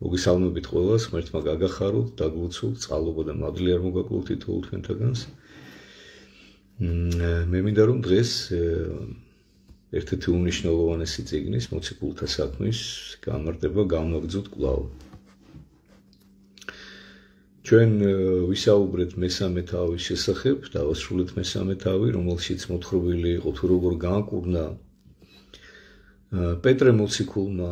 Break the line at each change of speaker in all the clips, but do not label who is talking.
მოგესალმებით ყველას, ღმერთმა გაგახაროთ, დაგლოცოთ, წყალობა და მადლი არ მოგაკლოთ თითოეულ თქვენთაგანს. მე მინდა რომ დღეს ერთ-ერთი უნიშნელოვანესი წიგნის მოციქულთა საქმის გამარტება განვაგრძოთ კვლავ. ჩვენ ვისაუბრეთ მესამე თავის შესახებ, დავასრულეთ მესამე თავი, რომელშიც მოთხრობილი იყო თუ როგორ გააკურნა პეტრე მოციქულმა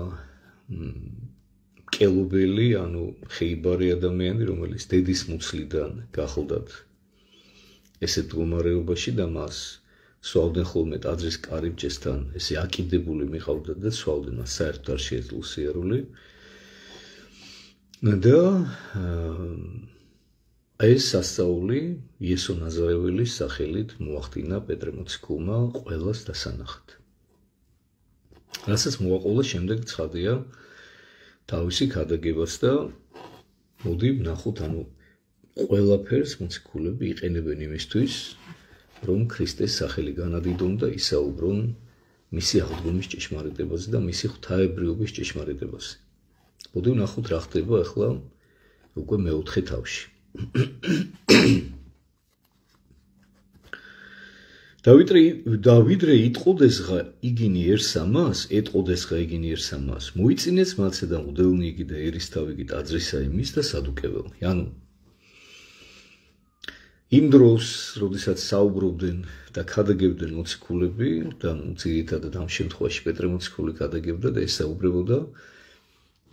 მკელობელი, ანუ ხეიბარი ადამიანი, რომელიც დედის მუცლიდან გახლდათ ესეთ მდგომარეობაში და მას სვავდნენ ხოლმე ტაძრის კარიბჭესთან, ესე აკიდებული მიყავდათ და სვავდნენ, მას საერთოდ არ შეეძლო სიარული. და ეს სასწაული იესო ნაზარეველის სახელით მოახდინა პეტრე მოციქულმა ყველას დასანახად. რასაც მოაყოლა შემდეგ ცხადია თავისი ქადაგებაც და მოდი ვნახოთ, ანუ ყველაფერს მოციქულები იყენებენ იმისთვის, რომ ქრისტეს სახელი განადიდონ და ისაუბრონ მისი აღდგომის ჭეშმარიტებაზე და მისი ღვთაებრიობის ჭეშმარიტებაზე. მოდი ვნახოთ რა ხდება ახლა უკვე მეოთხე თავში. დავიდრე იტყოდესღა იგინიერსამას, ეტყოდესღა იგინიერსამას, მოიწინეს მათზე და მღვდელნი იგი და ერისთავი იგი ტაძრისა იმის და სადუკეველნი. ანუ იმ დროს, როდესაც საუბრობდნენ და ქადაგებდნენ მოციქულები, და ძირითადად ამ შემთხვევაში პეტრე მოციქული ქადაგებდა და ესაუბრებოდა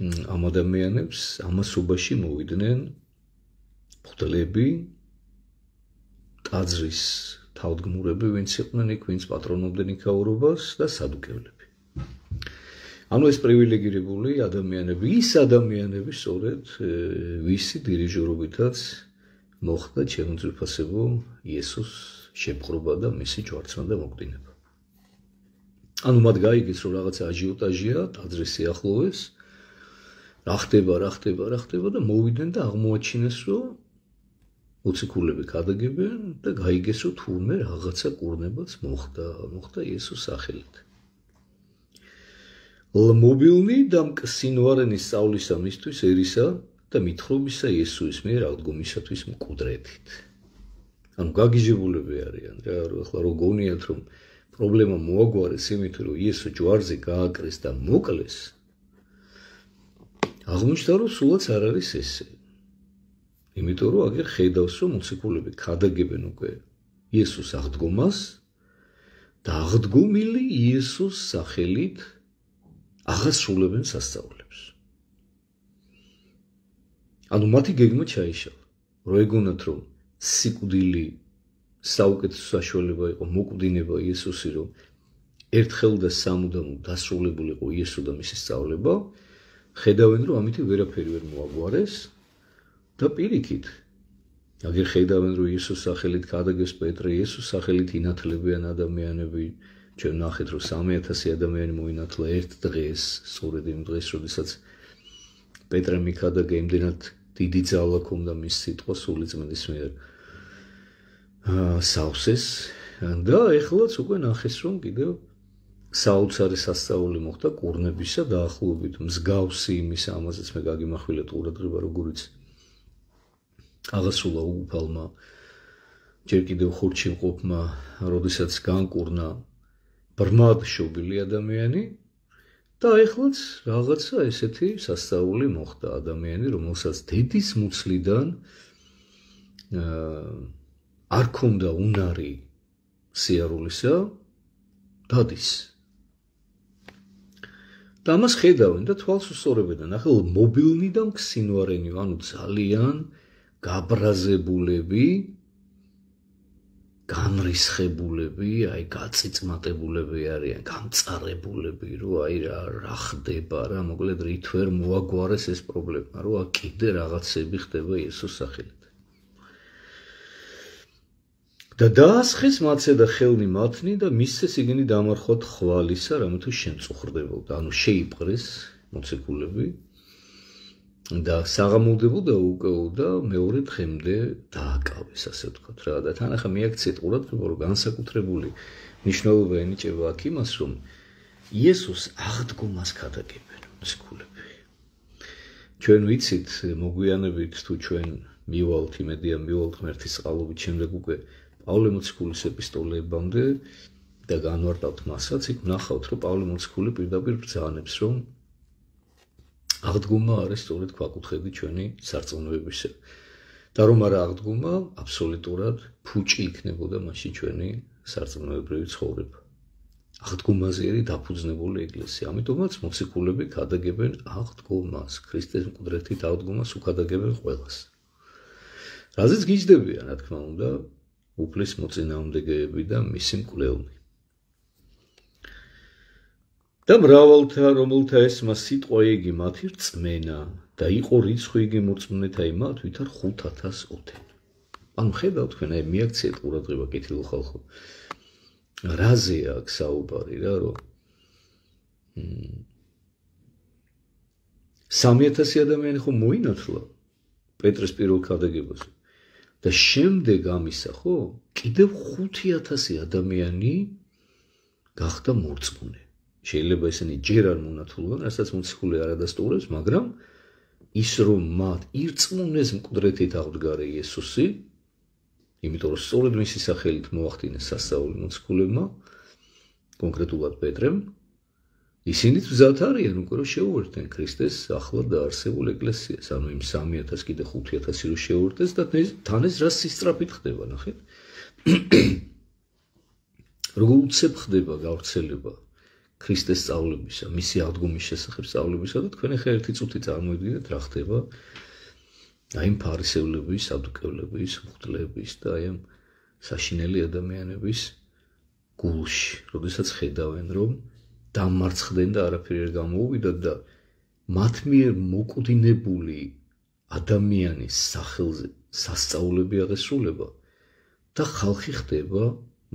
ამ ადამიანებს, ამასობაში მოვიდნენ მღვდლები, ტაძრის თავდგმურები, ვინც იყვნენ იქ, ვინც პატრონობდნენ იქაურობას და სადუკევლები. ანუ ეს პრივილეგირებული ადამიანები, ის ადამიანები, სწორედ ვისი დირიჟორობითაც მოხდა ჩემოძვირფასებო იესოს შეპყრობა და მისი ჯვარცმა და მოკვდინება. ანუ მათ გაიგეს, რომ რაღაცა აჟიოტაჟია ტაძრის სიახლოვეს, რა ხდება და მოვიდნენ და აღმოაჩინეს, რომ მოციქულები ქადაგებენ და გაიგეს, რომ თურმე რაღაცა კურნებაც მოხდა იესოს სახელით. მობილნი და მკსინვარენი სწავლისა მისთვის ერისა და მითხრობისა იესოის მიერ აღდგომისათვის მკვდრეთით. ანუ გაგიჟებულები არიან რა, ახლა რო გონიათ, რომ პრობლემა მოაგვარეს იმით, რომ იესო ჯვარზე გააკრეს და მოკლეს, აღმოჩნდა, რომ სულაც არ არის ესე. იმიტომ რომ აგერ ხედავს, რომ მოციქულები ქადაგებენ უკვე იესოს აღდგომას და აღდგომილი იესოს სახელით აღასრულებენ სასწაულებს. ანუ მათი გეგმა ჩაიშალა, რომ ეგონათ, რომ სიკვდილი საუკეთესო საშუალება იყო მოკვდინება იესოსი, რომ ერთხელ და სამუდამოდ დასრულებულიყო იესო და მისი სწავლება, ხედავენ, რომ ამით ვერაფერი ვერ მოაგვარეს და პირიქით, აგერ ხედავენ, რომ იესოს სახელით ქადაგებს პეტრე, იესოს სახელით ინათლებიან ადამიანები, ჩვენ ნახეთ, რომ 3000 ადამიანი მოინათლა ერთ დღეს, სწორედ იმ დღეს, როდესაც პეტრე მიქადაგა, იმდენად დიდი ძალა ჰქონდა მის სიტყვა სულიწმიდის მიერ სავსეს და ეხლაც უკვე ნახეს, რომ კიდევ საოცარი სასწაული მოხდა კურნებისა დაახლოებით მსგავსი იმისა, ამაზეც მე გაგიმახვილეთ ყურადღება, როგორიც აღასრულა უგუფალმა ჯერ კიდევ ხურჯში მყოფმა, როდესაც განკურნა ბრმად შობილი ადამიანი და ეხლაც რაღაცა ესეთი სასწაული მოხდა ადამიანი, რომელსაც დედის მუცლიდან არ ქონდა უნარი სიარულისა, დადის. და ამას ხედავენ და თვალს უსწორებენ. ახლა მობილნი და მკსინვარენი, ანუ ძალიან გაბრაზებულები, განრისხებულები, აი გაწიწმატებულები არიან, გამწარებულები, რომ აი რა ხდება რა, მოკლედ რით ვერ მოაგვარეს ეს პრობლემა, რომ კიდე რაღაცები ხდება იესოს სახელით. და დაასხეს მათზე და ხელნი მათნი და მისცეს იგენი დამარხვათ ხვალისა, რამე თუ შემწუხრდებოდა, ანუ შეიპყრეს მოციქულები და საღამოვდებოდა უკეო და მეორე დღემდე დააკავეს, ასე ვთქვათ რა. და თან ახლა მიაქციეთ ყურადღება, რომ განსაკუთრებული მნიშვნელობა ენიჭება აქ იმას, რომ იესოს აღდგომას ქადაგებენ მოციქულები. ჩვენ ვიცით მოგვიანებით თუ ჩვენ მივალთ იმედია მივალთ ღმერთის წყალობით შემდეგ უკვე პავლე მოციქულის ეპისტოლეებამდე და განვარტავთ მასაც, იქ ვნახავთ, რომ პავლე მოციქული პირდაპირ ბრძანებს, რომ აღდგომა არის სწორედ ქვაკუთხედი ჩვენი სარწმუნოებისა. და რომ არა აღდგომა, აბსოლუტურად ფუჭი იქნებოდა მაშინ ჩვენი სარწმუნოებრივი ცხოვრება. აღდგომაზეერი დაფუძნებული ეკლესია. ამიტომაც მოციქულები ქადაგებენ აღდგომას, ქრისტეს მკვდრეთით აღდგომას უქადაგებენ ყველას. რაზეც გიჯდებიან, რა თქმა უნდა, უფლის მოწინააღმდეგეები და მისი მკვლელნი. და მრავალთა, რომელთა ესმა სიტყვა იგი მათი რწმენა და იყო რიცხვი იგი მორწმუნეთა იმათ, ვითარ 5,000 ოდენ. ანუ ხედავთ თქვენ, აი მიაქციეთ ყურადღება კეთილ ხალხო. რაზეა აქ საუბარი რა, რომ 3,000 ადამიანი ხო მოინათლა პეტრეს პირველ ქადაგებაზე. და შემდეგ ამისა ხო, კიდევ 5,000 ადამიანი გახდა მორწმუნე. შეიძლება ესენი ჯერ არ მონათულან, რასაც მოციქული არ ადასტურებს, მაგრამ ის რომ მათ ირწმუნეს მკვდრეთით აღდგარა იესოსი, იმიტომ რომ სწორედ მისი სახელით მოახდინეს სასწაული მოციქულებმა, კონკრეტულად პეტრემ, ისინიც მზად არიან უკვე რომ შეუერთდნენ ქრისტეს ახლად დაარსებულ ეკლესიას, ანუ იმ 3,000 კიდე 5,000 რო შეუერთდეს და თან ეს რა სისწრაფით ხდება, ნახეთ. როგორ უცებ ხდება გავრცელება ქრისტეს სწავლებისა, მისი აღდგომის შესახებ სწავლებისა და თქვენ ახლა ერთი წუთი წარმოიდგინეთ რა ხდება აი იმ ფარისევლების, სადუკევლების, მღვდლების და აი ამ საშინელი ადამიანების გულში, როდესაც ხედავენ რომ დამარცხდნენ და არაფერი არ გამოუვიდათ და მათ მიერ მოკვდინებული ადამიანის სახელზე სასწაულები აღესრულება და ხალხი ხდება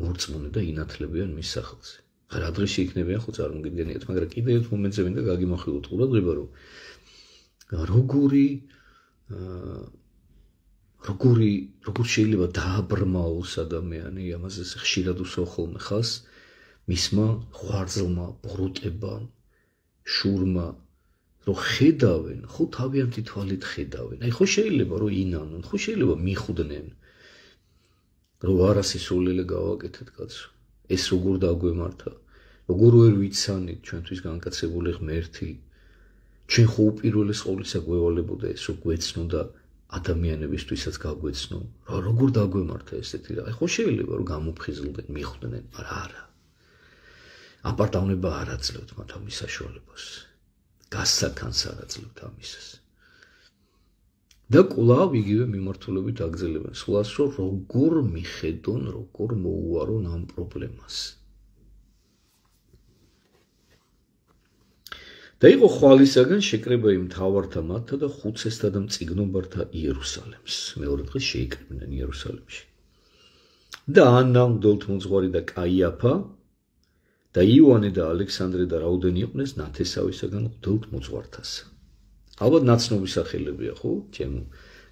მორწმუნე და ინათლებიან მის სახელზე. რა დღეში იქნებიან ხო წარმოგიდგენიათ, მაგრამ კიდევ ერთ მომენტზე მინდა გაგიმახვილოთ ყურადღება, რომ როგორ შეიძლება დააბრმაოს ადამიანი, ამაზე ხშირად უსაუბრ ხოლმე ხას, მისმა ღვაწლმა, ბოროტებამ, შურმა, რომ ხედავენ, ხო თავიანთი თვალით ხედავენ. აი ხო შეიძლება რომ ინანონ, ხო შეიძლება მიხვდნენ, რომ არასისულელე გავაკეთეთ კაცო. ეს როგორ დაგვემართა, როგორ ვერ ვიცანით ჩვენთვის განკაცებული ღმერთი, ჩვენ ხო უპირველეს ყოვლისა გვევალებოდა ეს რომ გვეცნო და ადამიანებისთვისაც გაგვეცნო, როგორ დაგვემართა ესეთი რა. ხო შეიძლება რომ გამოფხიზლდნენ, მიხვდნენ, მაგრამ არა. აპარტავნება არ აძლევთ მათ ამის საშუალებას. გასცანს არ აძლევთ ამისას. და კვლავ იგივე მიმართულებით აგრძელებენ სულას, რომ როგორ მიხედონ, როგორ მოუარონ ამ პრობლემას. და იყო ხვალისაგან შეკრება იმ მთავართა მათთა და ხუცესთა და მწიგნობართა იერუსალემს. მეორე დღეს შეიკრიბნენ იერუსალემში. და ანა, მღვდელთმოძღვარი და კაიაფა და იოანე და ალექსანდრე და რაოდენი იყვნენ ნათესავისაგან მღვდელთმოძღვართას. ალბათ ნაცნობი სახელებია, ხო? ჩემო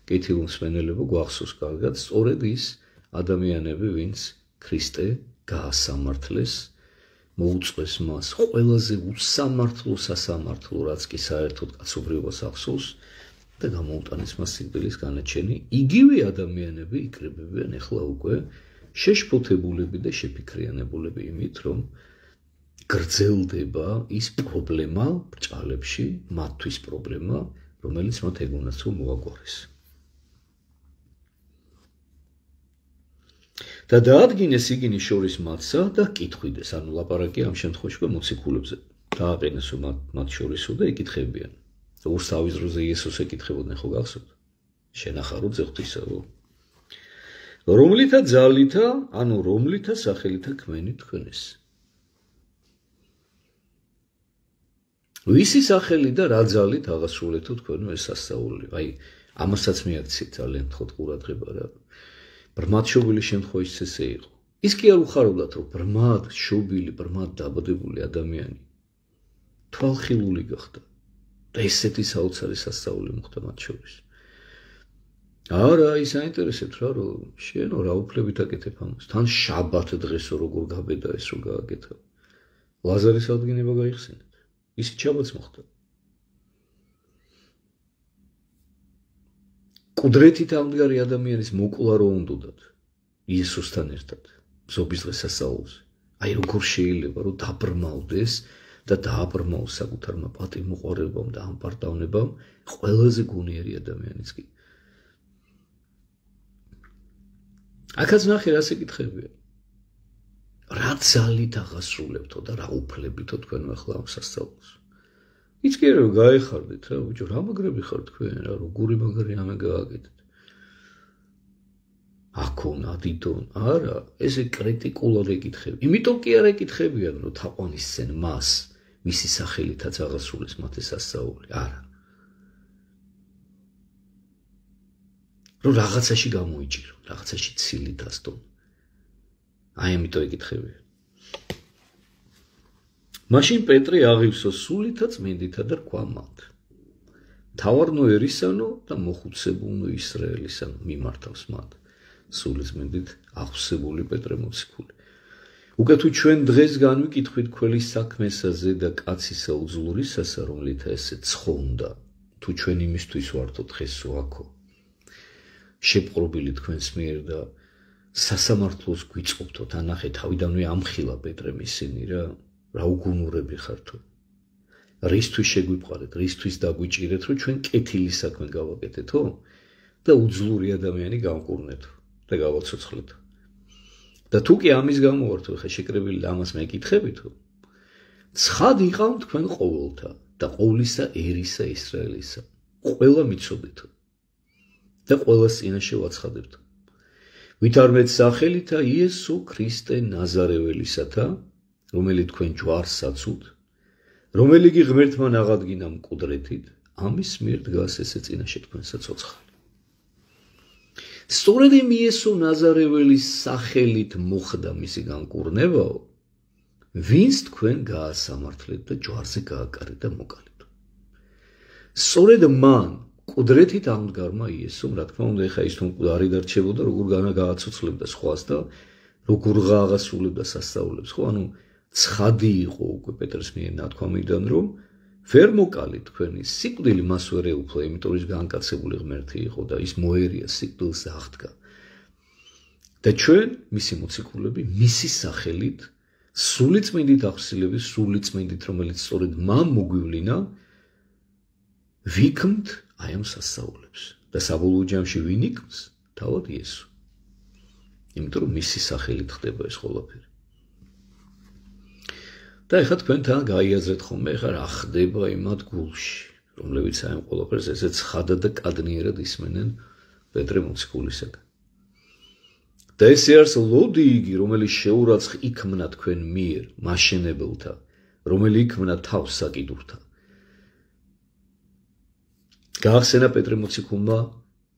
კეთილ მსმენელებო, გვახსოვს კარგად, სწორედ ის ადამიანები, ვინც ქრისტე გაასამართლეს, მოუწყვეს მას ყველაზე უსამართლო სასამართლო, რაც კი საერთოდ კაცობრიობას ახსოვს და გამოუტანეს მას სიკვდილის განაჩენი. იგივე ადამიანები იკრიბებიან ახლა უკვე შეშფოთებულები და შეფიქრიანებულები იმით, რომ გრძელდება ის პრობლემა ბრჭყალებში, მათთვის პრობლემა, რომელიც მათ ეგონათ რომ მოაგვარეს. და დაადგინეს იგინი შორის მათსა და კითხვიდეს, ანუ ლაპარაკი ამ შემთხვევაში მოციქულებზე. დააყენესო მათ შორისო და ეკითხებიან. ორს თავის დროზე იესოს ეკითხებოდნენ, ხო გახსოვთ? შენახარო ძეღთისაო. რომლითა ძალითა, ანუ რომლითა სახელითა ქმენით თქვენეს. ვისი სახელი და რა ძალით აღასრულეთო თქვენო ეს სასწაული. აი, ამასაც მიაქციეთ ძალიან ხოთ ყურადღება რა. ბრმად შობილი შემთხვევაში ესე იყო. ის კი არ უხარებდათ, რომ ბრმად შობილი, ბრმად დაბადებული ადამიანი თვალხილული გახდა და ესეთი საოცარი სასწაული მოხდა მათ შორის. არა, ის აინტერესებთ რა, რომ შენო რა უფლებით აკეთებ ამას. თან შაბათ დღესო როგორ გაბედა ეს რომ გააკეთა. ლაზარის აღდგენება გაიხსენეთ. ისიც შაბათს მოხდა. კუდრეთით ამდგარი ადამიანის მოკლა რო უნდათ იესოსთან ერთად ზობის დღესასწაულზე. აი როგორ შეიძლება რომ დაბრმავდეს და დააბრმავოს საკუთარმა პატივმოყვარეობამ და ამპარტავნებამ ყველაზე გონიერი ადამიანიც კი. აქაც ნახე რა საკითხებია. რა ძალით აღასრულებთო და რა უფლებითო თქვენ ახლა ამ სასწაულს. იც კი რომ გაეხარდეთ რა ბიჭო, რა მაგრები ხარ თქვენ რა, როგორი მაგარი ამე გააკეთეთ. აქონ ადიდონ, არა, ესე კრიტიკულად ეკითხები. იმიტომ კი არ ეკითხებიან, რომ თაყვანისცენ მას, მისი სახელითაც აღასრულეს მათი სასწაული, არა. რომ რაღაცაში გამოიჭირო, რაღაცაში ცილით ასდონ. აი ამიტომ ეკითხებიან. მაშინ პეტრე აღივსო სულითა წმინდითა და რქვა მათ. თავარნო ერისანო და მოხუცებულნო ისრაელისანო მიმართავს მათ. სულიწმინდით აღსებული პეტრე მოციქული. უკეთ თუ ჩვენ დღეს განვიკითხვით ქველის საქმესაზე და კაცისა უძლურისასა, რომლითა ესე ცხონდა, თუ ჩვენ იმისთვის ვართო დღესო აქო. შეპყრობილი თქვენს მიერ და სასამართლოს გვიწყობთო, თანახე თავიდანვე ამხილა პეტრემ ისინი რა უგუნურები ხართო. რისთვის შეგვიყვარეთ, რისთვის დაგვიჭირეთ, რომ ჩვენ კეთილი საქმე გავაკეთეთო და უძლური ადამიანი გავკურნეთო და გავაცოცხლეთო. და თუ კი ამის გამო ვართო, ხა შეკრებილი ამას მეკითხებითო. ცხად იყავ თქვენ ყოველთა და ყოვლისა ერისა ისრაელისა. ყველა მიცოდეთო და ყველას წინაშე ვაცხადებთო. ვითარმეთ სახელითა იესო ქრისტე ნაზარეველისათა, რომელიც თქვენ ჯვარს საცუთ, რომელი კი ღმერთმა აღადგინა მკვდრეთით, ამის მიერ დგას ესე წინაშე თქვენსა ცოცხალი. სწორედ იმ იესო ნაზარეველის სახელით მოხდა მისი განკურნებაო, ვინც თქვენ გაასამართლეთ და ჯვარზე გააკარეთ და მოკალეთ. სწორედ მან კუდრეთით ამდგარმა იესომ, რა თქმა უნდა, ეხა ის თუ მკვდარი დარჩებოდა, როგორ გააცოცხლებდა სხვას და როგორ გააღასრულებდა სასწაულებს, ხო, ანუ ცხადი იყო უკვე პეტრეს მიერ ნათქვამიდან, რომ ვერ მოკალით თქვენი სიკვდილი მას ვერ ეუფლა, იმიტომ ის განკაცებული ღმერთი იყო და ის მოერია სიკვდილს და აღდგა. და ჩვენ, მისი მოციქულები, მისი სახელით, სულიწმინდით აღსილების, სულიწმინდით, რომელიც სწორედ მან მოგვივლინა, ვიქმთ აი ამ სასწაულებს და საბოლოო ჯამში ვინ იქმს? თავად იესო. იმიტომ რომ მისი სახელით ხდება ეს ყველაფერი. და ეხლა თქვენ თან გაიაზრეთ ხოლმე, ეხლა რა ხდება იმათ გულში, რომლებიც აი ამ ყველაფერს ესე ცხადად და კადნიერად ისმენენ პეტრე მოციქულისაგან. და ესე არის ლოდი იგი, რომელიც შეურაცხ იქმნა თქვენ მიერ, მაშენებელთა, რომელი იქმნა თავს საკიდურთა. გაახსენა პეტრე მოციქულმა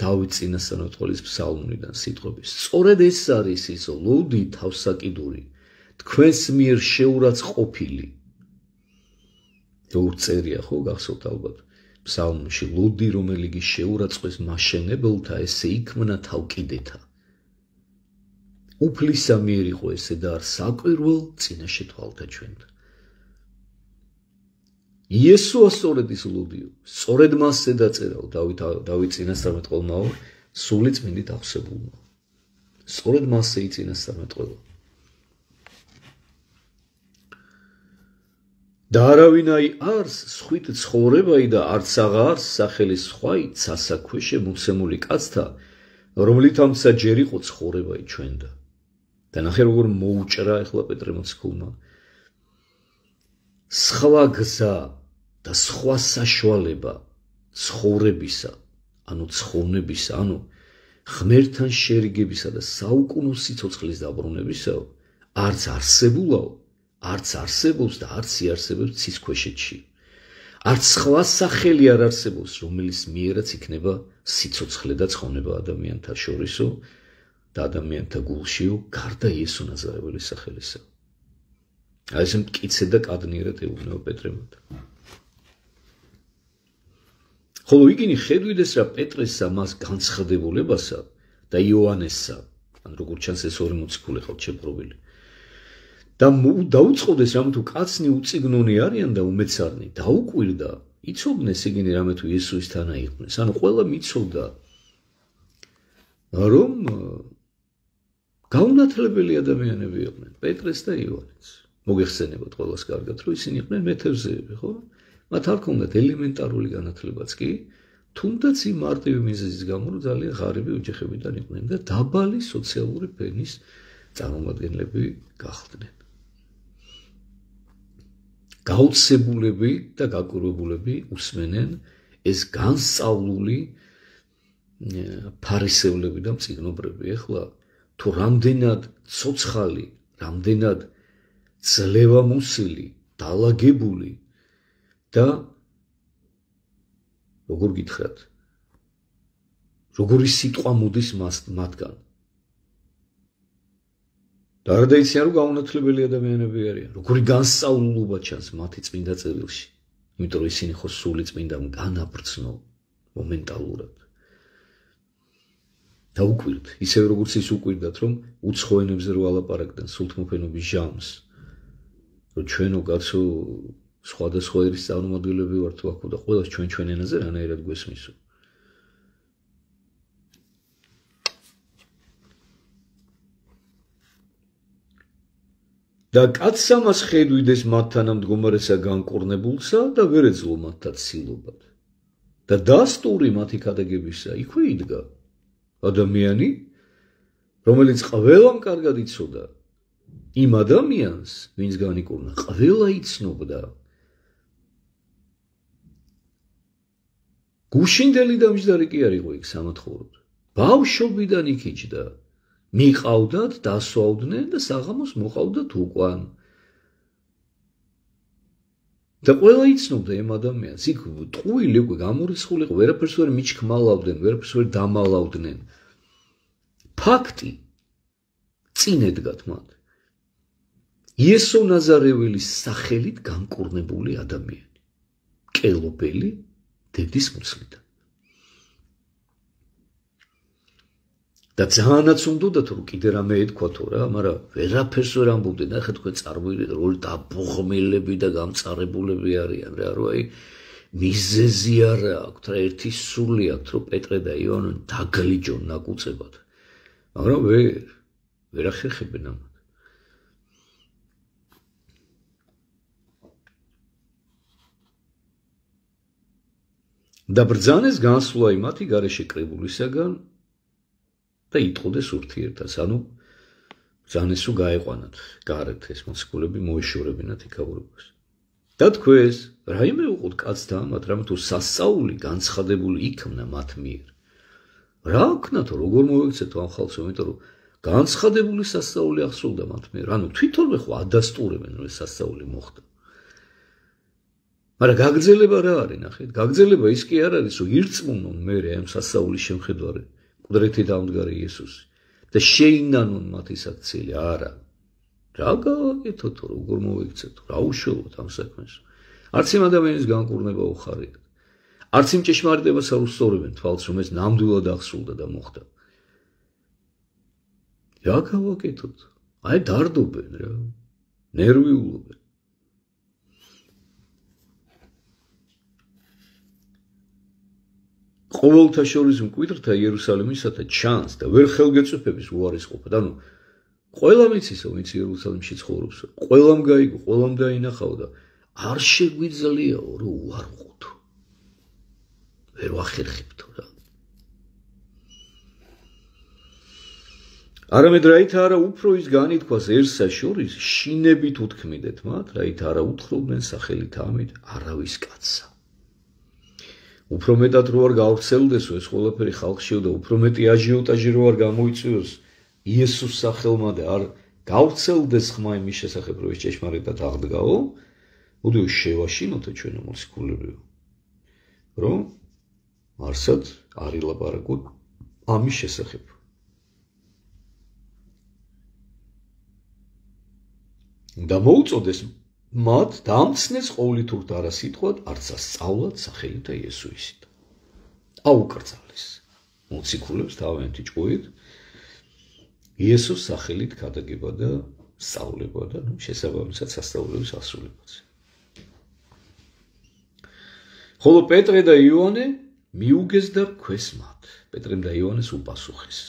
დავით წინასწარმეტყველის ფსალმუნიდან სიტყვების. სწორედ ეს არის ის ლოდი თავსაკიდური, თქვენს მიერ შეურაცხყოფილი. როგორ წერია, ხო, გახსოვთ ალბათ ფსალმუნში, ლოდი, რომელი კი შეურაცხეს მაშენებელთა, ესე იქმნა თავკიდეთა. უფლისა მიერ იყო ესე და არ საკვირველ წინაშე თვალთა ჩვენთან. იესოა სწორედ ის ლოდიო, სწორედ მასზე დაწერაო დავით წინასწარმეტყველმაო, სულიწმინდით აღსებულმა. სწორედ მასზე იწინასწარმეტყველა. და არავინაი არს სხვით ცხოვრებაი და არც აღარს სახელი სხვაი ცასაქვეშე მოცემული კაცთა, რომლით ამცა ჯერ იყო ცხოვრებაი ჩვენდა. და ნახე როგორ მოუჭრა ეხლა პეტრე მოციქულმა. სხვა გზა და სხვა საშუალება ცხოვრებისა, ანუ ცხოვნებისა, ანუ ღმერთთან შერიგებისა და საუკუნო სიცოცხლის დაბრუნებისაო, არც არსებულაო, არც არსებობს და არც იარსებებს ცის ქვეშეთში. არც სხვა სახელი არ არსებობს, რომელიც მიერაც იქნება სიცოცხლე და ცხონება ადამიანთა შორისო და ადამიანთა გულშიო, გარდა იესო ნაზარეველის სახელისა. აი ეს მტკიცე და კადნიერად ეუბნება პეტრემოთ. ხოლო იგინი ხედვიდეს რა პეტრესა მას განცხადებულებასა და იოანესსა, ან როგორც ჩანს ეს ორი მოციქული ხალთ შეპყრობილი. და დაუწყოდეს რამე თუ კაცნი უწიგნონი არიან და უმეცარნი დაუკვირდა იცოდნენ ისინი რამე თუ იესოსთანა იყვნენ ანუ ყველა მიცოდა რომ გაუნათლებელი ადამიანები იყვნენ პეტრეს და იოანეს მოგეხსენებათ ყველას კარგად რომ ისინი იყვნენ მეთევზეები ხო მათ არ ქონდათ ელემენტარული განათლებაც კი თუნდაც იმ მარტივი მიზეზის გამო რომ ძალიან ღარიბი ოჯახებიდან იყვნენ და დაბალი სოციალური ფენის წარმომადგენლები გახდნენ გაუცებულები და გაკვირვებულები უსმენენ ეს განსწავლული ფარისევლები და მწიგნობრები ეხლა თუ რამდენად ცოცხალი რამდენად ძლევამოსილი დალაგებული და როგორ გითხრათ როგორი სიტყვა მოდის მათგან და არ დაიციან რომ გაუნათლებელი ადამიანები არიან როგორი განსწავლულობა ჩანს მათი წმინდა წერილში იმიტომ რომ ისინი ხო სული წმინდა განაბრძნო მომენტალურად და უკვირთ ისევ როგორც ის უკვირდათ რომ უცხო ენებზე რო ალაპარაკდნენ სულთმოფენობის ჟამს რომ ჩვენო კაცო სხვადასხვა ერის წარმომადგენლები ვართ ვაქო და ყველას ჩვენ ენაზე რანაირად გვესმისო და კაცსა მას ხედვიდეს მათთან მდგომარესა განკურნებულსა და ვერ ეძლო მათთან ცილობად და დასტური მათი ქადაგებისა იქვე იდგა ადამიანი რომელიც ყველამ კარგად იცოდა იმ ადამიანს ვინც განიკურნა ყველა იცნობდა გუშინდელი და მჯდარი კი არ იყო იქ სამათხოვროდ ბავშვობიდან იქიჯდა მიყავდათ დასვავდნენ და საღამოს მოყავდათ უკან და ყველა იცნობდა იმ ადამიანს იქ ტყუილი უკვე გამორიცხული იყო ვერაფერს ვერ მიჩქმალავდნენ ვერაფერს ვერ დამალავდნენ ფაქტი წინ ედგათ მათ იესო ნაზარეველის სახელით განკურნებული ადამიანი კელობელი დედის მუცლიდან და ძალიანაც უნდათ რომ კიდე რამე ეთქვათო რა მაგრამ ვერაფერს ვერ ამბობდნენ ახლა თქვენ წარმოიდგინეთ რომ დაბუღმილები და გამწარებულები არიან რა რომ აი მიზეზი არა აქვთ რა ერთი სული აქვთ რომ პეტრე და იოანე დაგლიჯონ ნაკუწებად მაგრამ ვერ ახერხებენ ამათ და ბრძანეს განსვლა იმათი გარეშე კრებულისაგან და იტყოდეს ურთიერთას, ანუ ბრძანესო გაეყვანათ გარეთ ეს მოციქულები მოეშორებინათ იქაურობას. და თქვეს, რაიმე უყოთ კაცთა ამათ, რამე თუ სასწაული განცხადებული იქნა მათ მიერ. რა აქნათო, როგორ მოექცეთო ამ ხალხს, იმიტომ რომ განცხადებული სასწაული ახსოვდა მათ მიერ, ანუ თვითონვე ხო ადასტურებენ რომ ეს სასწაული მოხდა. მაგრამ გაგრძელება რა არის, ნახეთ, გაგრძელება ის კი არ არის, რომ ირწმუნონ მერე ამ სასწაულის შემხედვარი კუდრეთი დამდგარი იესოსი და შეინანონ მათი საქციელი, არა. რა გავაკეთოთ, როგორ მოიქცეთო, რა უშუალოდ ამ საქმეს. არც იმ ადამიანის განკურნება უხარია. არც იმ ჭეშმარიტებას არ უსწორებენ თვალს, რომ ეს ნამდვილად აღსრულდა და მოხდა. რა გავაკეთოთ? აი დარდობენ რა. ნერვიულობენ. ყოველთა შორის მკვიდრთა იერუსალიმისათა ჩანს და ვერ ხელგეწვეფების უარისყოფად. ანუ ყველამ იცისო, ვინც იერუსალიმში ცხოვრობს, ყველამ გაიგო, ყველამ დაინახავ და არ შეგვიძლიაო რომ უარყოთ. ვერ ვახერხებთო რა. არამედ რაით არა უფრო ის განითქვას ერთსა შორის შინებით უთქმიდეთ მათ, რაით არა უთხრობდნენ სახელით ამით არავის კაცსა. უფრო მეტად რო არ გავრცელდესო ეს ყველაფერი ხალხშიო და უფრო მეტი აჟიოტაჟი რო არ გამოიწვიოს იესოს სახელმა და არ გავრცელდეს ხმა იმის შესახებ რომ ეს ჭეშმარიტად აღდგაო, მოდი შევაშინოთო ჩვენო მოციქულებიო, რომ არსად არ ილაპარაკოთ ამის შესახებ. და მოუწოდეს მათ დამცნეს ყოვლით ურთ არა სიტყვად, არც ასწავლად სახელითა იესოისით. აუკრძალეს მოციქულებს თავიანთი ჭკუით იესოს სახელით ქადაგება და სწავლება და შესაბამისად სასწაულების ასრულებაც. ხოლო პეტრე და იოანე მიუგეს და რქვეს მათ. პეტრემ და იოანეს უპასუხეს.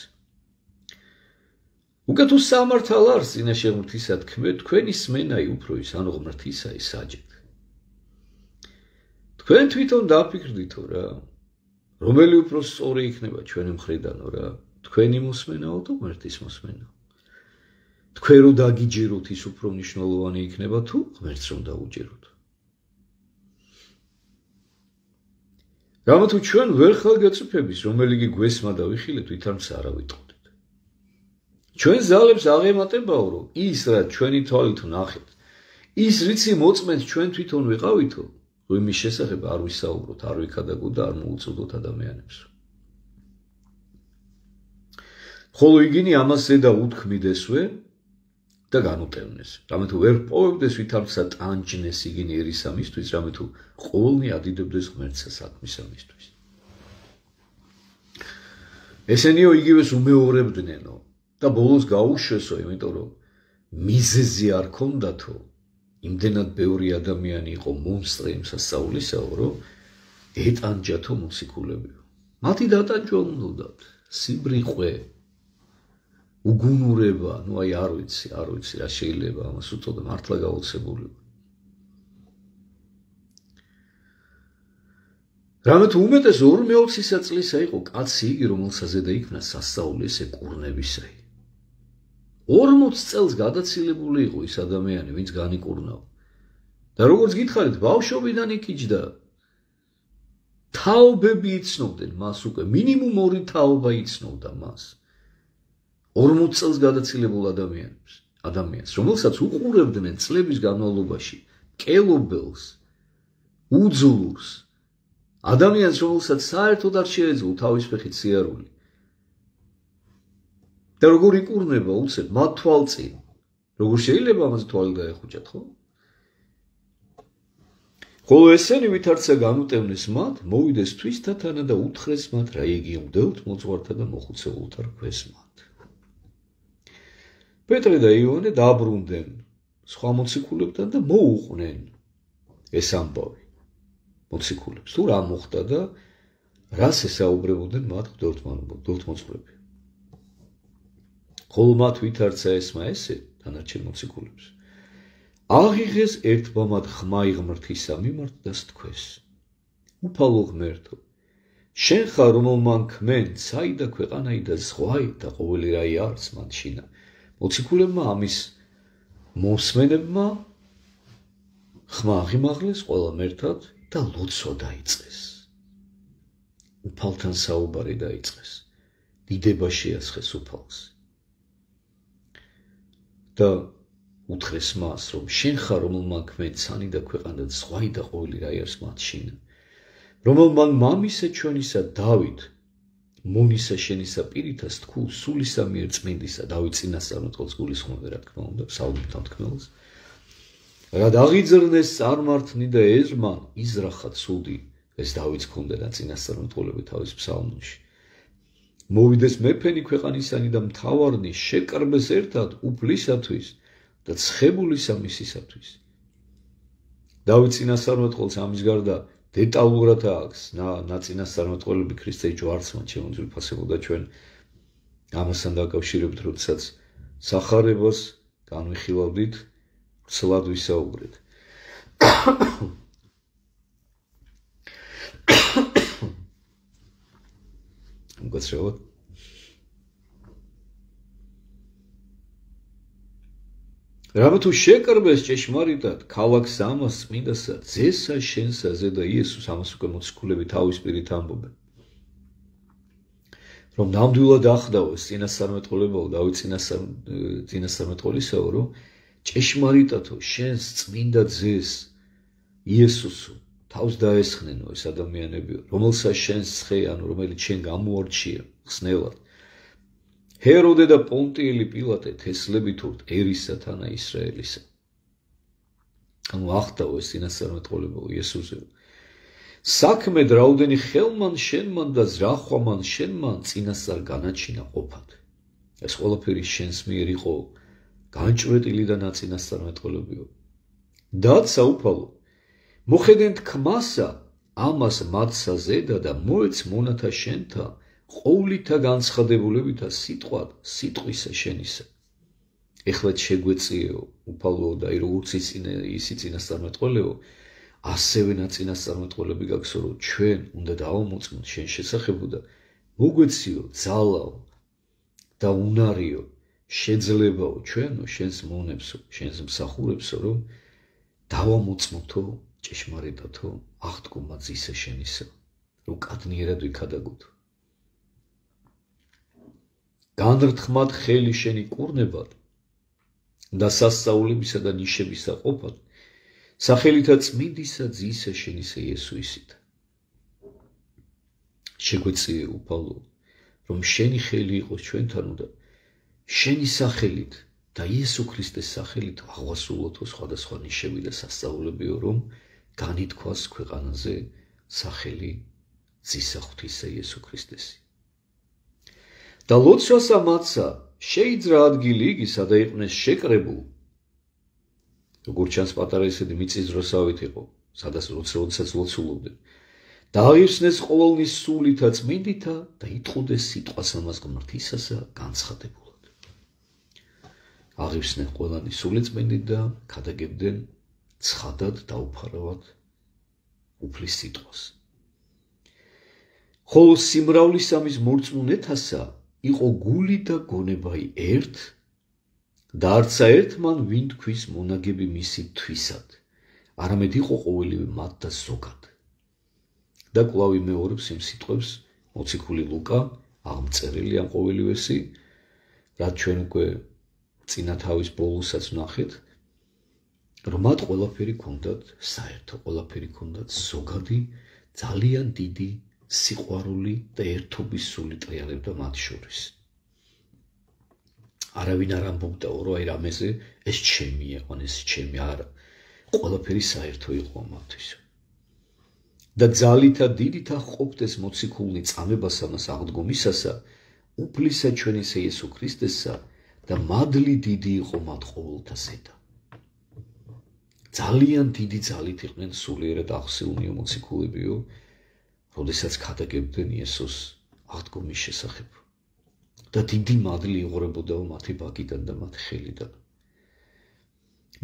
უკეთ უსამართალ არს წინაშე ღმრთისა თქმე, თქვენი სმენაი უფრო ის, ანუ ღმრთისა ისაჯეთ. თქვენ თვითონ დაფიქრდითო რა, რომელი უფრო სწორი იქნება ჩვენი მხრიდანო რა, თქვენი მოსმენაო თუ ღმრთის მოსმენაო. თქვენ რო დაგიჯეროთ ის უფრო მნიშვნელოვანი იქნება თუ ღმერთს რომ დაუჯეროთ. რამათუ ჩვენ ვერ ხალგაწიფების, რომელიგი გვესმა და ვიხილეთ, ვითარც არა ვიტყოდეთ. ჩვენ ზალებს აღემატებაო, რომ ის რა ჩვენი თვალით ვნახეთ, ის რიცი მოწმენთ ჩვენ თვითონ ვიყავითო, იმის შესახებ არ ვისაუბროთ, არ ვიქადაგოთ და არ მოუწოდოთ ადამიანებს. ხოლო იგინი ამას ზედა უთქმიდესვე და განუტევნეს. რამეთუ ვერ პოვებდეს ვითარცა ტანჯნეს იგინი ერისამისთვის, რამეთუ ყოველნი ადიდებდეს ღმერთსა საქმისამისთვის. ესენიო იგივეს უმეორებდნენო და ბოლოს გაუშვესო, იმიტომ რომ მიზეზი არ ქონდათო, იმდენად ბევრი ადამიანი იყო მონსტრი იმ სასწაულისაო, რომ ეტანჯათო მოციქულებიო. მათი დატანჯვა უნდათ, სიბრიყვე, უგუნურება, აი არ ვიცი რა შეიძლება ამას უწოდა, მართლა გაოცებული. რამეთუ უმეტეს 2/20 წლისა იყო კაცი იგი, რომელსაც ზედა იქნა სასწაული ესე კურნებისაი. 40 წელს გადაცილებული იყო ის ადამიანი, ვინც განიკურნაო. და როგორც გითხარით, ბავშვობიდან იქიჯდა. თაობები იცნობდნენ მას უკვე, მინიმუმ 2 თაობა იცნობდა მას. 40 წელს გადაცილებულ ადამიანს, რომელსაც უყურებდნენ წლების განმავლობაში, მკელობელს, უძლურს, ადამიანს, რომელსაც საერთოდ არ შეეძლო თავის ფეხით სიარული. და როგორ იკურნება უცებ მათ თვალწინ, როგორ შეიძლება ამაზე თვალი დაეხუჭათ, ხო? ხოლო ესენი ვითარცა განუტევნეს მათ, მოვიდეს თვისთა თანა და უთხრეს მათ, რა იგიუნდათ მოძღვართა და მოხუცებულთა რქვეს მათ. პეტრე და იოანე დაბრუნდნენ სხვა მოციქულებთან და მოუყვნენ ეს ამბავი მოციქულებს. თუ რა მოხდა და რას ესაუბრებოდნენ მათ მღვდელთმოძღვრები. ხოლო მათ ვითარცა ესმა ესე დანარჩენ მოციქულებს. აღიღეს ერთმა მათ ხმა ღმრთისა მიმართ და სთქვეს. უფალო ღმერთო, შენ ხარ რომელმან ქმენ საიდა ქვეყანაი და ზღვაი და ყოველი რაი არც მან შინა. მოციქულებმა ამის მოსმენებმა ხმა აღიმაღლეს ყველა მერთად და ლოცვა დაიწყეს. უფალთან საუბარი დაიწყეს. დიდება შეასხეს უფალს. და უთხრეს მას, რომ შენ ხარ რომელმან ქმენ ცანი და ქვეყანა და ზღვაი და ყოველი რაი არის მათ შინა. რომელმან მამისა ჩვენისა დავით მონისა შენისა პირითას თქულ სულისა მიერ წმინდისა დავით წინასწარმეტყველს გულისხმობ რა თქმა უნდა საუბრობთ თქმელს რა დაღიძრნეს წარმართნი და ეზრმან იზრახა ცუდი ეს დავითს ქონდა და წინასწარმეტყველები თავის ფსალმუნში მოვიდეს მეფენი ქვეყანისანი და მთავარნი შეკრბეს ერთად უფლისათვის და ცხებულისა მისისათვის დავით წინასწარმეტყველს ამის გარდა დეტალურად აქვს ნაწინასწარმეტყველები ქრისტეს ჯვარცმან შემოძვირფასებოდა ჩვენ ამასთან დაკავშირებით როდესაც სახარებას განვიხილავდით ცლად ვისაუბრეთ მოგწევთ რამეთუ შეკრბეს ჭეშმარიტად ქალაქს ამას წმინდასა ძესა შენსა ზედა იესოს ამას უკვე მოციქულები თავის პირით ამბობენ რომ ნამდვილად ახდავეს წინასწარმეტყველებაო დავით წინასწარმეტყველისაო რომ ჭეშმარიტადო შენს წმინდა ძეს იესოსო თავს დაესხნენო ეს ადამიანებიო რომელსაც შენს ცხე ანუ რომელიც შენ გამოარჩია ხსნელად ჰეროდე და პონტიელი პილატე თესლებით ურთ ერისა თანა ისრაელისა. ანუ ახდავეს წინასწარმეტყველებაო იესოზე. საქმე რაუდენი ხელმან შენმან და ზრახვამან შენმან წინასწარ განაჩინა ყოფად. ეს ყველაფერი შენს მიერ იყო განჭვრეტილი და ნაწინასწარმეტყველებიო. დაცა უფალო, მოხედენთ ქმასა, ამას მათსა ზედა და მოეც მონათა შენთა, ყოვლითა განცხადებულებითა სიტყვად სიტყვისა შენისა. ეხლა შეგვეწიეო, უფალო და როგორც ისი წინასწარმეტყველეო, ასევე ნაწინასწარმეტყველები გაქვსო, რომ ჩვენ უნდა დავამოწმოთ შენ შესახებო და მოგვეციო ძალაო და უნარიო, შეძლებაო ჩვენო შენს მონებსო, შენს მსახურებსო, რომ დავამოწმოთო ჭეშმარიტათო აღდგომა ძისა შენისა, რომ კადნიერად ვიქადაგოთო. განრთხმად ხელი შენი კურნებად და სასწაულებისა და ნიშებისა ყოფად, სახელითა წმინდისა ძისა შენისა იესოისით. შეგვეციე უფალო, რომ შენი ხელი იყოს ჩვენთანო და შენი სახელით და იესო ქრისტეს სახელით აღვასრულოთო სხვადასხვა ნიშები და სასწაულებიო, რომ განითქვას ქვეყანაზე სახელი ძისა ღვთისა იესო ქრისტესი. და ლოცვასა მათსა შეიძრა ადგილი იგი, სადა იყვნენ შეკრებულ, როგორც ჩანს პატარა ისეთი მიწის დროსავით იყო, სადაც როდესაც ლოცულობდნენ. და აღიხსნეს ყოველნის სულითა წმინდითა და იტყუდეს სიტყვას ამას ღმრთისასა განცხადებულად. აღიხსნენ ყველანი სული წმინდით და ქადაგებდნენ ცხადად დაუფარავად უფლის სიტყვას. ხოლო სიმრავლის ამის მორწმუნეთასა იყო გული და გონებაი ერთ და არცა ერთ მან ვინ თქვის მონაგები მისი თვისად, არამედ იყო ყოველივე მათ და ზოგად. და კვლავ იმეორებს იმ სიტყვებს მოციქული ლუკა, აღმწერილი ამ ყოველივესი, რაც ჩვენ უკვე წინა თავის ბოლოსაც ვნახეთ, რომ მათ ყველაფერი ქონდათ საერთო, ყველაფერი ქონდათ ზოგადი, ძალიან დიდი სიყვარული და ერთობის სული ტრიალებდა მათ შორის. არავინ არ ამბობდაო, რომ აი რამეზე ეს ჩემია, ან ეს ჩემი არა. ყველაფერი საერთო იყო მათთვის. და ძალითა დიდითა ყოფდეს მოციქულნი წამებას ამას აღდგომისასა, უფლისა ჩვენისა იესო ქრისტესა და მადლი დიდი იყო მათ ყოველთა ზედა. ძალიან დიდი ძალით იყვნენ სულიერად აღსილნიო მოციქულებიო, როდესაც ქადაგებდნენ იესოს აღდგომის შესახებ. და დიდი მადლი იღვრებოდაო მათი ბაგიდან და მათი ხელიდან.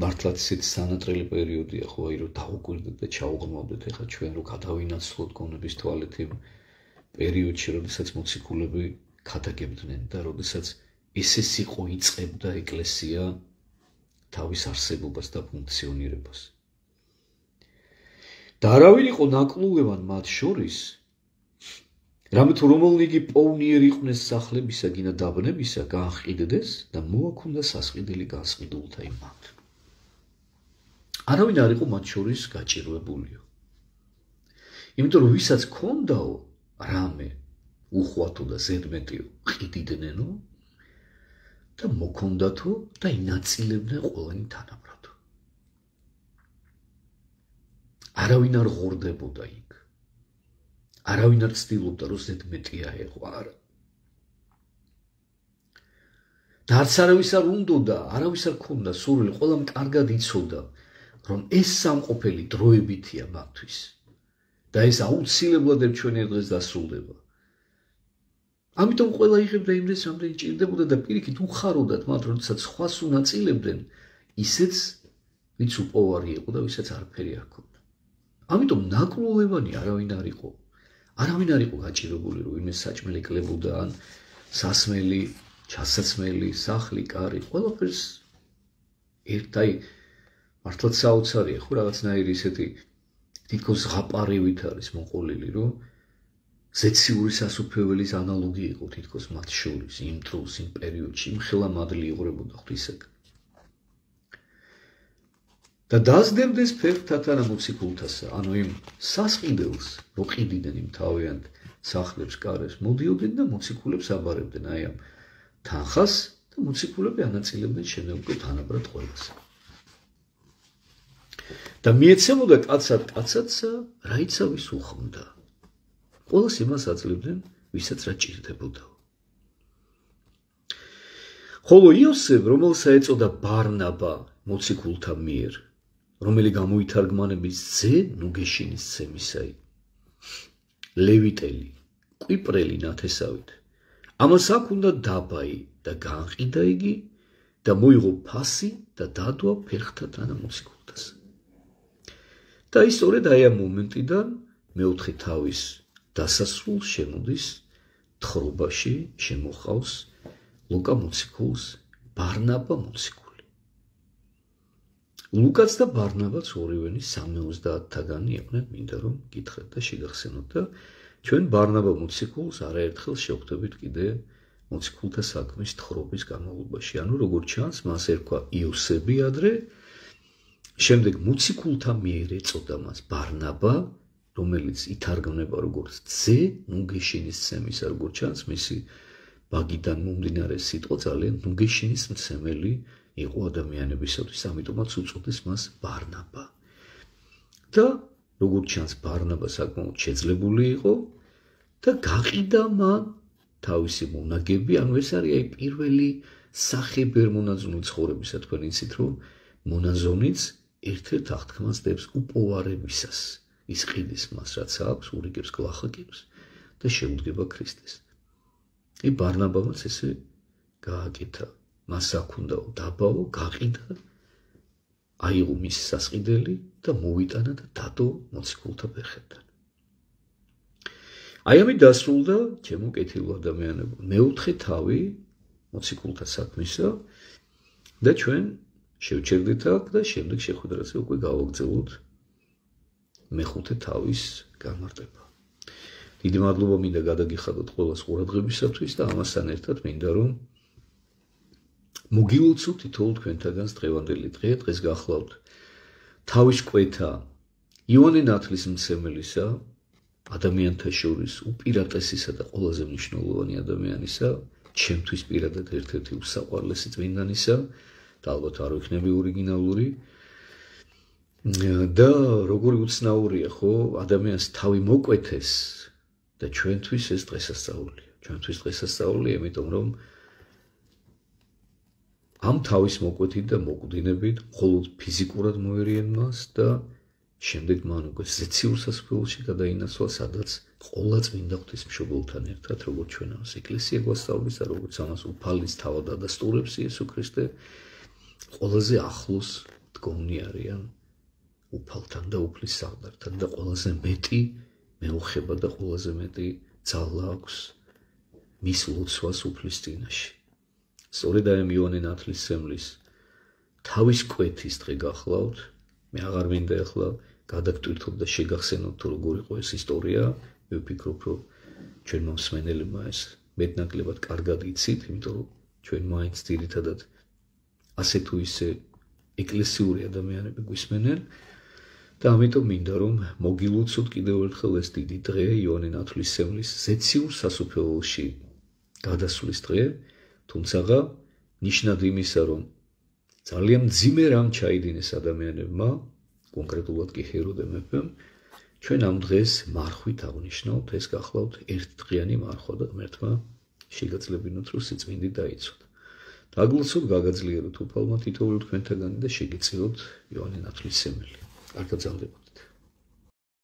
მართლაც ისეთი სანატრელი პერიოდია ხო, აი რომ დაუკვირდეთ და ჩაუღრმავდეთ ეხლა ჩვენ რომ გადავინაცვლოთ გონების თვალეთ იმ პერიოდში, როდესაც მოციქულები ქადაგებდნენ და როდესაც ესე სიყო იწყებდა ეკლესია თავის არსებობას და ფუნქციონირებას. და არავინ იყო ნაკლუევან მათ შორის, რამე თუ რომელნიგი პოვნიერი იყვნენ სახლებისა გინა დაბნებისა, გააყიდდეს და მოაქონდა სასყიდელი განსყიდულთა იმად. არავინ არ იყო მათ შორის გაჭირვებულიო. იმიტომ რომ ვისაც ქონდაო რამე უხვათო და ზედმეტიო ყიდიდნენო და მოქონდათო და ინაწილებდნენ ყველანი თანაბრად. არავინ არ ღორდებოდა იქ. არავინ არ ცდილობდა რომ ზედმეტია ეყო, არა. და არც არავის არ უნდოდა, არავის არ ქონდა სურვილი, ყველამ კარგად იცოდა, რომ ეს სამყოფელი დროებითია მათთვის და ეს აუცილებლად ჩვენი დღეს დასრულდება. ამიტომ ყველა იღებდა იმდენს, რამდენი ჭირდებოდა და პირიქით უხაროდათ მათ, როდესაც სხვას უნაწილებდნენ, ისეც ვინც უპოვარი იყო და ვისაც არაფერი არ ქონდა. ამიტომ ნაკლუევანი არავინ არ იყო. არავინ არ იყო გაჭირებული, რომ ვინმე საჭმელი კლებოდა ან სასმელი, ჩასაცმელი, სახლი, კარი, ყველაფერს ერთაი მართლაც საოცარია, ხო რაღაცნაირი ისეთი თითქოს ზღაპარივით არის მოყოლილი, რომ ზეციური სასუფეველის ანალოგი იყო თითქოს მათ შორის, იმ დროს, იმ პერიოდში, იმ ხელა მადლი იღვრებოდა ღვთისაგან. და დასდებდეს ფერხთათან მოციქულთასა, ანუ იმ სასყიდელს, რო ყიდიდნენ იმ თავიანთ სახლებს, კარებს, მოდიოდნენ და მოციქულებს აბარებდნენ აი ამ თანხას და მოციქულები ანაწილებდნენ შემოგვი თანაბრად ყველას. და მიეცემოდა კაცად კაცადსა, რაიცავის უხმდა. ყველას იმას აძლევდნენ, ვისაც რა ჭირდებოდა. ხოლო იოსებ, რომელსაც ეწოდა ბარნაბა მოციქულთა მიერ, რომელი გამოითარგმანების ძე ნუგეშინის ცემისაი, ლევიტელი, კვიპრელი ნათესავით, ამას აქ უნდა დაბაი და განყიდა იგი და მოიღო ფასი და დადვა ფერხთა თანა მოციქულთას. და ის სწორედ აი ამ მომენტიდან მეოთხე თავის დასასრულს შემოდის თხრობაში შემოხავს ლუკა მოციქულს ბარნაბა მოციქული. ლუკაც და ბარნაბაც ორივენი 70-თაგანი იყვნენ, მინდა რომ გითხრათ და შეგახსენოთ და ჩვენ ბარნაბა მოციქულს არაერთხელ შევხვდებით კიდე მოციქულთა საქმის თხრობის განმავლობაში. ანუ როგორც ჩანს, მას ერქვა იოსები ადრე, შემდეგ მოციქულთა მიერ ეწოდა მას ბარნაბა, რომელიც ითარგმნება როგორც ძე ნუგეშინის ცემისა, როგორც ჩანს, მისი ბაგიდან მომდინარე სიტყვა ძალიან ნუგეშინის მცემელი იყო ადამიანებისათვის, ამიტომაც უწოდეს მას ბარნაბა. და როგორც ჩანს, ბარნაბა საკმაოდ შეძლებული იყო და გაყიდა მან თავისი მონაგები, ანუ ეს არის აი პირველი სახე ბერმონაზონი ცხოვრებისა, თქვენ იცით რომ მონაზონიც ერთ-ერთ აღთქმას დებს უპოვარებისას. ის ყიდის მას, რაც აქვს, ურიგებს გლახაკებს და შეუდგება ქრისტეს. ბარნაბამაც ესე გააკეთა, მას აქ უნდა დაბაო, გაყიდა, აიღო მისი სასყიდელი და მოვიტანა და დადო მოციქულთა ფეხებთან. აი ამით დასრულდა ჩემო კეთილო ადამიანებო მეოთხე თავი მოციქულთა საქმისა და ჩვენ შევჩერდით აქ და შემდეგ შეხვედრაზე უკვე გავაგრძელოთ მეხუთე თავის გამარტება. დიდი მადლობა მინდა გადაგიხადოთ ყველას ყურადღებისათვის და ამასთან ერთად მინდა რომ მოგილოცოთ თითოეულ თქვენთაგანს დღევანდელი დღე. დღეს გახლავთ თავის კვეთა იოანე ნათლისმცემელისა, ადამიანთა შორის უპირატესისა და ყველაზე მნიშვნელოვანი ადამიანისა, ჩემთვის პირადად ერთ-ერთი უსაყვარლესი წმინდანისა და ალბათ არ ვიქნები ორიგინალური და როგორი უცნაურია ხო ადამიანს თავი მოკვეთეს და ჩვენთვის ეს დღესასწაულია. ჩვენთვის დღესასწაულია, იმიტომ რომ ამ თავის მოკვეთით და მოკვდინებით მხოლოდ ფიზიკურად მოერიან მას და შემდეგ მან უკვე ზეციურ სასაფლაოში გადაინაცვლა, სადაც ყოლა წმინდა ღვთისმშობელთან ერთად, როგორც ჩვენ ამას ეკლესია გვასწავლის და როგორც ამას უფალის თავად ადასტურებს იესო ქრისტე, ყველაზე ახლოს დგომნი არიან უფალთან და უფლის საღდართან და ყველაზე მეტი მეუხება და ყველაზე მეტი ძალა აქვს მის ლოცვას უფლის წინაშე. სწორედ აი იოანე ნათლისმცემლის თავის კვეთის დღე გახლავთ. მე აღარ მინდა ახლა გადაგტვირთოთ და შეგახსენოთ თუ როგორ იყო ეს ისტორია. მე ვფიქრობ, რომ ჩვენმა მსმენელებმა ეს მეტნაკლებად კარგად იცით, იმიტომ რომ ჩვენ მაინც ძირითადად ასე თუ ისე ეკლესიური ადამიანები გვისმენენ და ამიტომ მინდა რომ მოგილოცოთ კიდევ ერთხელ ეს დიდი დღე, იოანე ნათლისმცემლის ზეციურ სასუფეველში გადასვლის დღე, თუმცა ნიშნად იმისა, რომ ძალიან მძიმე რამ ჩაიდინეს ადამიანებმა, კონკრეტულად კი ჰეროდე მეფემ, ჩვენ ამ დღეს მარხვით აღნიშნავთ, ეს გახლავთ ერთდღიანი მარხვა და ღმერთმა შეგაძლებინოთ, რომ სიწმინდით დაიცვათ. დაგლოცოთ, გაგაძლიეროთ უფალმა თითოეული თქვენთაგანი და შეგეწიროთ იოანე ნათლისმცემელი. კარგად გრძელდებოდ.